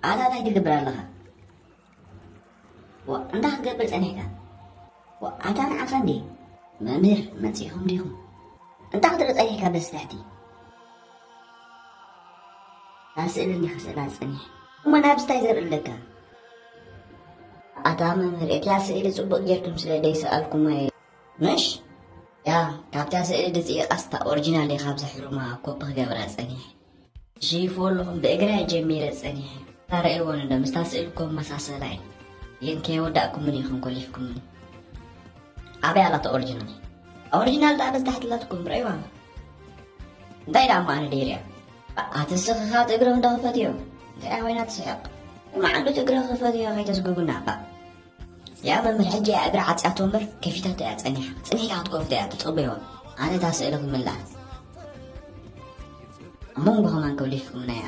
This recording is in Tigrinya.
ኣታ እንታይ ትገብር ኣለኻ? ዋ፣ እንታይ ክትገብር ጸኒሕካ? ዋ፣ ኣታ ንዓኻ እንዴ? መምህር፣ መጺእኹም ዲኹም? እንታይ ክትርኢ ጸኒሕካ በዚ ትሕቲ? እታ ስእሊ እንዲኻ ስእላ ጸኒሐ። እሞ ናብዚ እንታይ ዘርኢ ኣለካ? ኣታ መምህር፣ እቲኣ ስእሊ ጽቡቕ ጌርኩም ስለ ዘይሰኣልኩማ እየ። ምሽ? ያ፣ ካብታ ስእሊ ድጽኢቓስ እታ ኦሪጂናል እየ ካብ ዘሕርማ ኮፒ ክገብራ ጸኒሐ። ሽይፎ ኣለኹም ብእግራ ጀሚረ ጸኒሐ። ታረእይዎን እንዶ ምስታ ስእሊ እኮ መሳሰላ እዩ። ግን ከየወዳእኩምን ኢኹም ኮሊፍኩምኒ። ኣበይ ኣላቶ ኦሪጂናል? ኦሪጂናል ደኣ በዚ ታሕቲ ኣላትኩም ርእይዋ። እንታይ ደኣ እሞ ኣነ ደይርያ? ኣቲ ስኽኻ እግርኽ እንዶ ክፈትዮ። እንታይ ኮይና ትስሕቕ? መዓንዱ እግርኽ ክፈትዮ ከይተስጉጉና እባ። ያ መምህር ሕጂ እያ እግራ ዓጽያቶ እምበር ከፊታቶ እያ ጸኒሓ። ጽኒሕካ ክትከፍቶ እያ ትጽበዮ። ኣነ እታ ስእሊ ክምልኣ። ኣብ መንጎ ከማን ከብሊፍኩምና እያ።